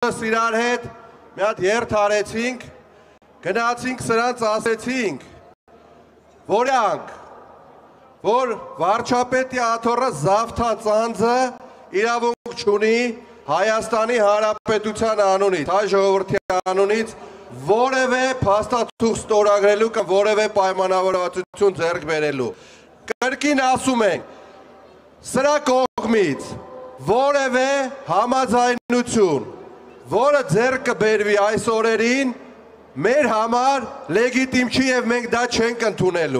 բոլորս իրար հետ մի հատ երթ արեցինք, գնացինք սրանց ասեցինք, որ վարչապետի աթոռը զավթած անձը իրավունք չունի Հայաստանի Հանրապետության անունից, հայ ժողովրդի անունից որևէ փաստաթուղթ ստորագրելու կամ որևէ պայմանավորվածություն ձեռք բերելու։ Կրկին ասում ենք, սրա կողմից որևէ համաձայնություն, որը ձեռք կբերվի այս օրերին, մեր համար լեգիտիմ չի եւ մենք դա չենք ընդունելու։